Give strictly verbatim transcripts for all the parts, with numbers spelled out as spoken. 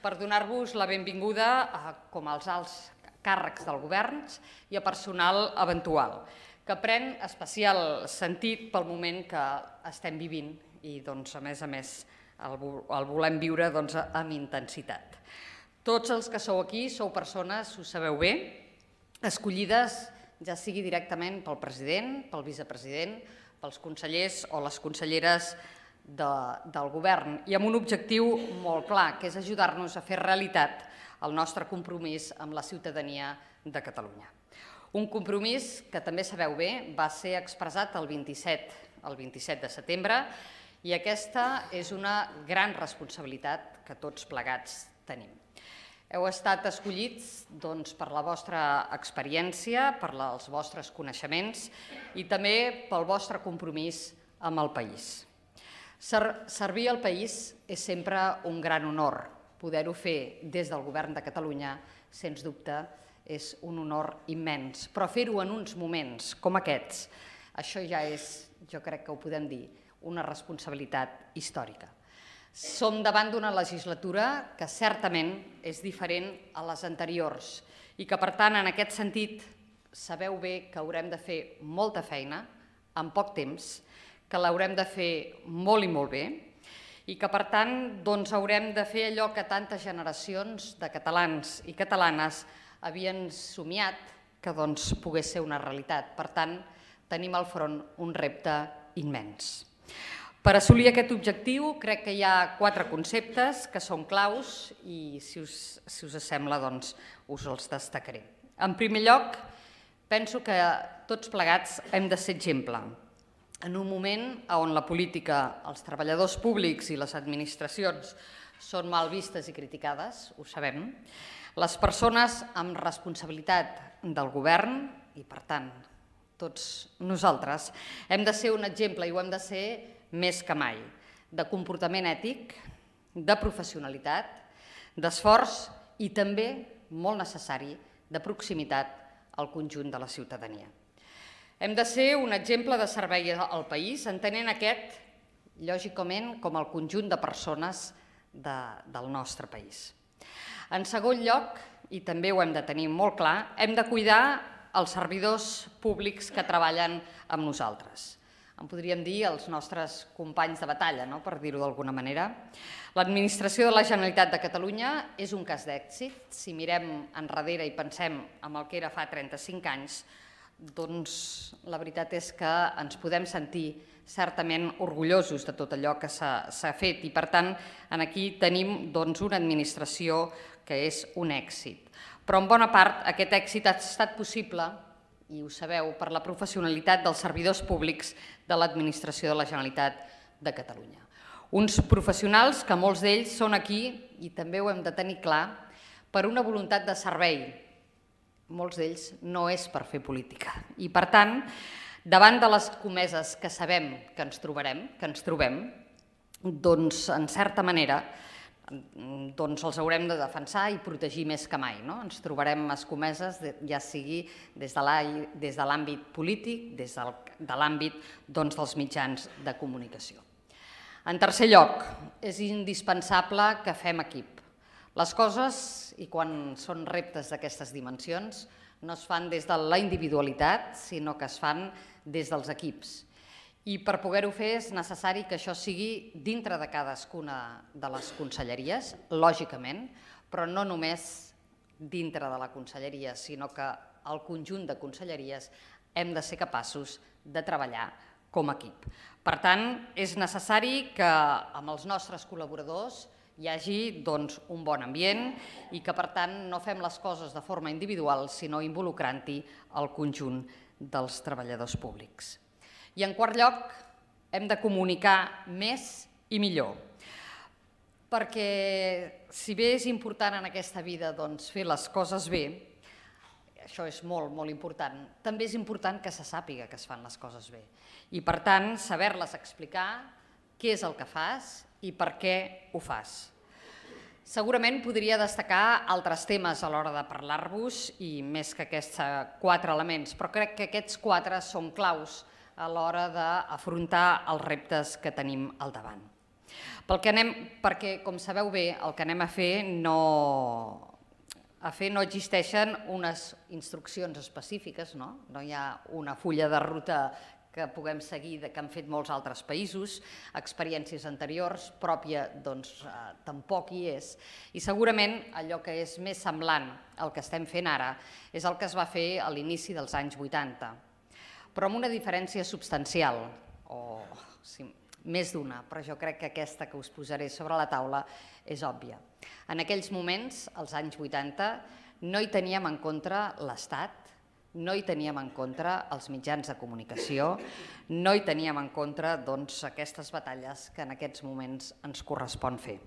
per donar-vos la benvinguda com als alts càrrecs del govern i a personal eventual, que pren especial sentit pel moment que estem vivint i, a més a més, el volem viure amb intensitat. Tots els que sou aquí sou persones, ho sabeu bé, escollides ja sigui directament pel president, pel vicepresident, pels consellers o les conselleres del govern i amb un objectiu molt clar, que és ajudar-nos a fer realitat el nostre compromís amb la ciutadania de Catalunya. Un compromís que també sabeu bé va ser expressat el vint-i-set de setembre i aquesta és una gran responsabilitat que tots plegats tenim. Heu estat escollits per la vostra experiència, per els vostres coneixements i també pel vostre compromís amb el país. Servir al país és sempre un gran honor. Poder-ho fer des del Govern de Catalunya, sens dubte, és un honor immens. Però fer-ho en uns moments com aquests, això ja és, jo crec que ho podem dir, una responsabilitat històrica. Som davant d'una legislatura que certament és diferent a les anteriors i que, per tant, en aquest sentit, sabeu bé que haurem de fer molta feina en poc temps, que l'haurem de fer molt i molt bé i que, per tant, haurem de fer allò que tantes generacions de catalans i catalanes havien somiat que pogués ser una realitat. Per tant, tenim al front un repte immens. Per assolir aquest objectiu crec que hi ha quatre conceptes que són claus i, si us sembla, us els destacaré. En primer lloc, penso que tots plegats hem de ser exemple. En un moment on la política, els treballadors públics i les administracions són mal vistes i criticades, ho sabem, les persones amb responsabilitat del govern i, per tant, tots nosaltres, hem de ser un exemple i ho hem de ser més que mai, de comportament ètic, de professionalitat, d'esforç i també, molt necessari, de proximitat al conjunt de la ciutadania. Hem de ser un exemple de servei al país, entenent aquest, lògicament, com el conjunt de persones del nostre país. En segon lloc, i també ho hem de tenir molt clar, hem de cuidar els servidors públics que treballen amb nosaltres. En podríem dir els nostres companys de batalla, per dir-ho d'alguna manera. L'administració de la Generalitat de Catalunya és un cas d'èxit. Si mirem enrere i pensem en el que era fa trenta-cinc anys, doncs la veritat és que ens podem sentir certament orgullosos de tot allò que s'ha fet i, per tant, aquí tenim una administració que és un èxit. Però en bona part aquest èxit ha estat possible, i ho sabeu, per la professionalitat dels servidors públics de l'administració de la Generalitat de Catalunya. Uns professionals que molts d'ells són aquí, i també ho hem de tenir clar, per una voluntat de servei. Molts d'ells no és per fer política. I, per tant, davant de les escomeses que sabem que ens trobarem, que ens trobem, doncs, en certa manera, els haurem de defensar i protegir més que mai. Ens trobarem escomeses, ja sigui des de l'àmbit polític, des de l'àmbit dels mitjans de comunicació. En tercer lloc, és indispensable que fem equip. Les coses, i quan són reptes d'aquestes dimensions, no es fan des de la individualitat, sinó que es fan des dels equips. I per poder-ho fer és necessari que això sigui dintre de cadascuna de les conselleries, lògicament, però no només dintre de la conselleria, sinó que el conjunt de conselleries hem de ser capaços de treballar com a equip. Per tant, és necessari que amb els nostres col·laboradors hi hagi un bon ambient i que, per tant, no fem les coses de forma individual, sinó involucrant-hi el conjunt dels treballadors públics. I, en quart lloc, hem de comunicar més i millor. Perquè, si bé és important en aquesta vida fer les coses bé, això és molt, molt important, també és important que se sàpiga que es fan les coses bé. I, per tant, saber-les explicar què és el que fas i per què ho fas. Segurament podria destacar altres temes a l'hora de parlar-vos i més que aquests quatre elements, però crec que aquests quatre són claus a l'hora d'afrontar els reptes que tenim al davant. Perquè, com sabeu bé, el que anem a fer no... A fer no existeixen unes instruccions específiques, no? No hi ha una fulla de ruta que puguem seguir que han fet molts altres països, experiències anteriors, pròpia doncs tampoc hi és. I segurament allò que és més semblant al que estem fent ara és el que es va fer a l'inici dels anys vuitanta, però amb una diferència substancial, o més d'una, però jo crec que aquesta que us posaré sobre la taula és òbvia. En aquells moments, als anys vuitanta, no hi teníem en compte l'Estat, no hi teníem en compte els mitjans de comunicació, no hi teníem en compte aquestes batalles que en aquests moments ens correspon fer.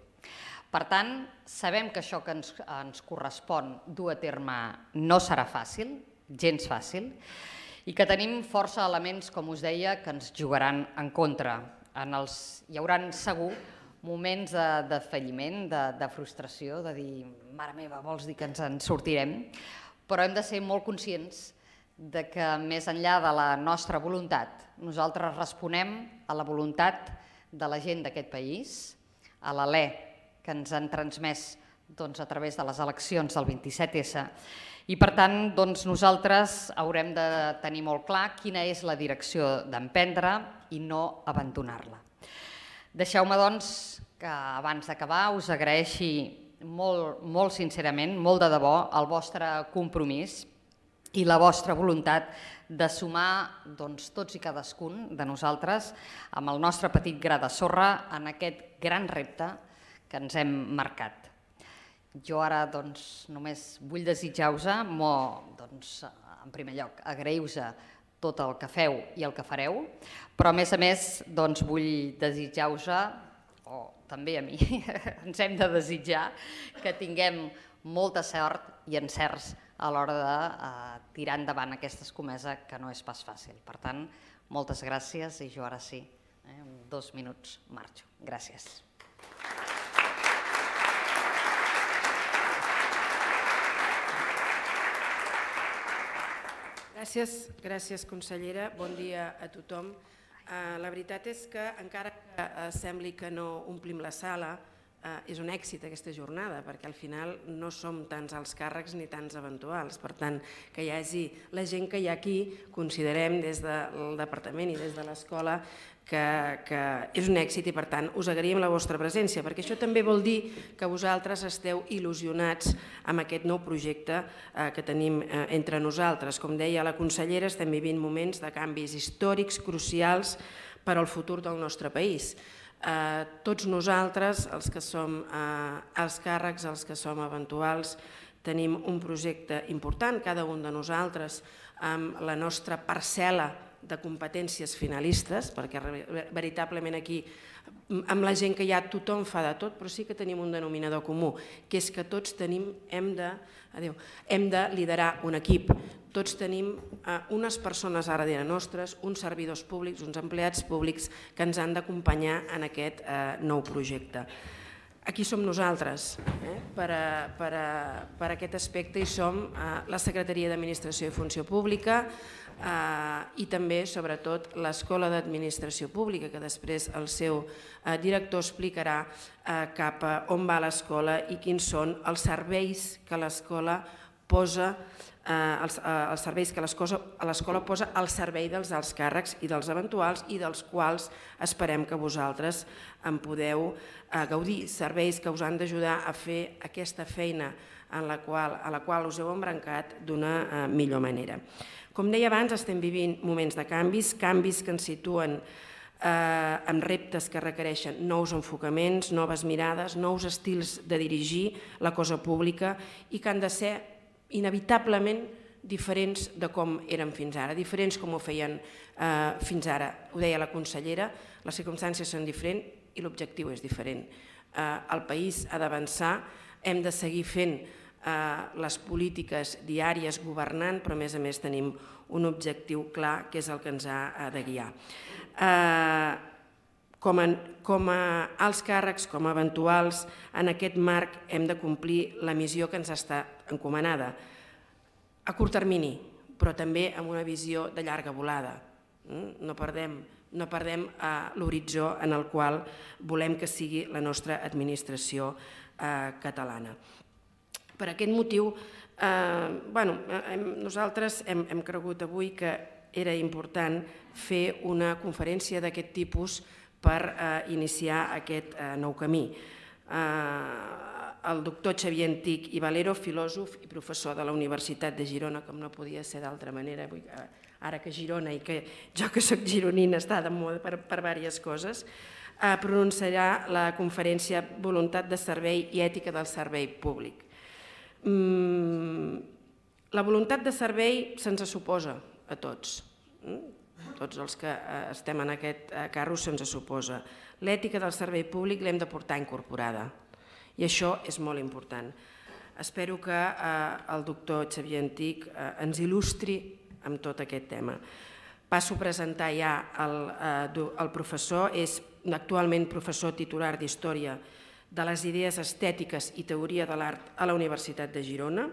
Per tant, sabem que això que ens correspon dur a terme no serà fàcil, gens fàcil, i que tenim força elements, com us deia, que ens jugaran en contra. Hi haurà segur moments de falliment, de frustració, de dir, mare meva, vols dir que ens en sortirem? Però hem de ser molt conscients que més enllà de la nostra voluntat, nosaltres responem a la voluntat de la gent d'aquest país, a l'alè que ens han transmès a través de les eleccions del vint-i-set essa, i per tant nosaltres haurem de tenir molt clar quina és la direcció d'emprendre i no abandonar-la. Deixeu-me doncs que abans d'acabar us agraeixi molt sincerament, molt de debò, el vostre compromís i la vostra voluntat de sumar tots i cadascun de nosaltres amb el nostre petit gra de sorra en aquest gran repte que ens hem marcat. Jo ara només vull desitjar-vos, en primer lloc, agrair-vos tot el que feu i el que fareu, però a més a més vull desitjar-vos, o també a mi, ens hem de desitjar que tinguem molta sort i encerts a l'hora de tirar endavant aquesta escomesa que no és pas fàcil. Per tant, moltes gràcies i jo ara sí, en dos minuts marxo. Gràcies. Gràcies, gràcies consellera. Bon dia a tothom. La veritat és que encara que sembli que no omplim la sala, és un èxit aquesta jornada, perquè al final no som tants alts càrrecs ni tants eventuals. Per tant, que hi hagi la gent que hi ha aquí, considerem des del departament i des de l'escola que és un èxit i per tant us agraïm la vostra presència, perquè això també vol dir que vosaltres esteu il·lusionats amb aquest nou projecte que tenim entre nosaltres. Com deia la consellera, estem vivint moments de canvis històrics crucials per al futur del nostre país. Tots nosaltres, els que som alts càrrecs, els que som eventuals, tenim un projecte important, cada un de nosaltres, amb la nostra parcel·la de competències finalistes, perquè veritablement aquí, amb la gent que hi ha, tothom fa de tot, però sí que tenim un denominador comú, que és que tots tenim, hem de, adéu, hem de liderar un equip. Tots tenim unes persones ara darrere nostres, uns servidors públics, uns empleats públics que ens han d'acompanyar en aquest nou projecte. Aquí som nosaltres, per aquest aspecte hi som la Secretaria d'Administració i Funció Pública i també, sobretot, l'Escola d'Administració Pública, que després el seu director explicarà cap a on va l'escola i quins són els serveis que l'escola posa els serveis que l'escola posa al servei dels alts càrrecs i dels eventuals i dels quals esperem que vosaltres en podeu gaudir, serveis que us han d'ajudar a fer aquesta feina a la qual us heu embrancat d'una millor manera. Com deia abans, estem vivint moments de canvis, canvis que ens situen amb reptes que requereixen nous enfocaments, noves mirades, nous estils de dirigir la cosa pública i que han de ser inevitablement diferents de com eren fins ara, diferents com ho feien fins ara. Ho deia la consellera, les circumstàncies són diferents i l'objectiu és diferent. El país ha d'avançar, hem de seguir fent les polítiques diàries governant, però a més a més tenim un objectiu clar que és el que ens ha de guiar. Com a alts càrrecs, com a eventuals, en aquest marc hem de complir la missió que ens està encomanada, a curt termini, però també amb una visió de llarga volada. No perdem no perdem l'horitzó en el qual volem que sigui la nostra administració catalana. Per aquest motiu, nosaltres hem cregut avui que era important fer una conferència d'aquest tipus per iniciar aquest nou camí. El doctor Xavier Antich i Valero, filòsof i professor de la Universitat de Girona, com no podia ser d'altra manera, ara que Girona i que jo que soc gironina està de moda per diverses coses, pronunciarà la conferència Voluntat de servei i ètica del servei públic. La voluntat de servei se'ns suposa a tots, tots els que estem en aquest carro se'ns suposa. L'ètica del servei públic l'hem de portar incorporada i això és molt important. Espero que el doctor Xavier Antich ens il·lustri amb tot aquest tema. Passo a presentar ja el professor, és actualment professor titular d'Història de les Idees Estètiques i Teoria de l'Art a la Universitat de Girona.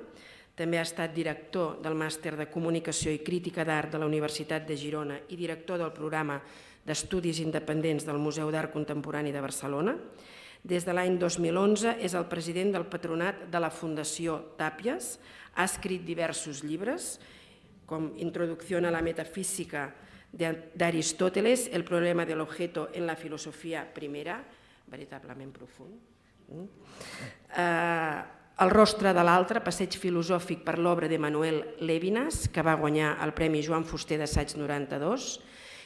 També ha estat director del Màster de Comunicació i Crítica d'Art de la Universitat de Girona i director del programa d'Estudis Independents del Museu d'Art Contemporani de Barcelona. Des de l'any dos mil onze és el president del patronat de la Fundació Tàpies, ha escrit diversos llibres, com Introducción a la Metafísica d'Aristóteles, El problema del objeto en la filosofia primera, veritablement profund. El rostre de l'altre, passeig filosòfic per l'obra d'Emmanuel Levinas, que va guanyar el Premi Joan Fuster d'Assaig noranta-dos,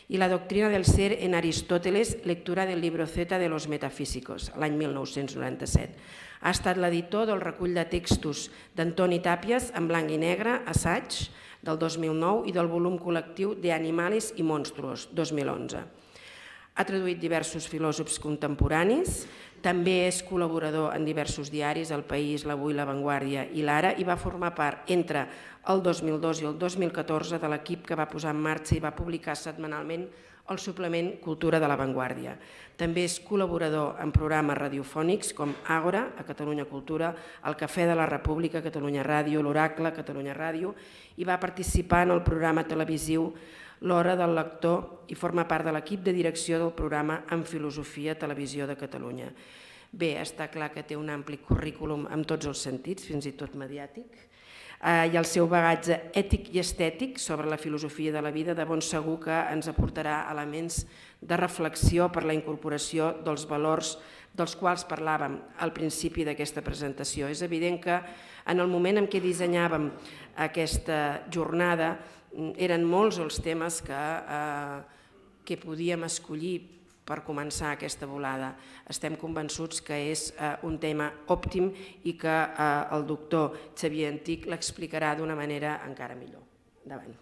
i La doctrina del ser en Aristóteles, lectura del libro Z de los metafísicos, l'any mil nou-cents noranta-set. Ha estat l'editor del recull de textos d'Antoni Tàpies en blanc i negre, Assaig, del dos mil nou, i del volum col·lectiu de Animales y Monstruos, dos mil onze. Ha traduït diversos filòsofs contemporanis, també és col·laborador en diversos diaris, El País, l'Avui, La Vanguardia i l'Ara, i va formar part entre el dos mil dos i el dos mil catorze de l'equip que va posar en marxa i va publicar setmanalment el suplement Cultura de La Vanguardia. També és col·laborador en programes radiofònics com Àgora, a Catalunya Cultura, El Cafè de la República, a Catalunya Ràdio, l'Oracle, a Catalunya Ràdio, i va participar en el programa televisiu L'Hora del Lector i forma part de l'equip de direcció del programa En Filosofia Televisió de Catalunya. Bé, està clar que té un ampli currículum en tots els sentits, fins i tot mediàtic, i el seu bagatge ètic i estètic sobre la filosofia de la vida de ben segur que ens aportarà elements de reflexió per la incorporació dels valors dels quals parlàvem al principi d'aquesta presentació. És evident que en el moment en què dissenyàvem aquesta jornada eren molts els temes que podíem escollir per començar aquesta volada. Estem convençuts que és un tema òptim i que el doctor Xavier Antich l'explicarà d'una manera encara millor. Endavant.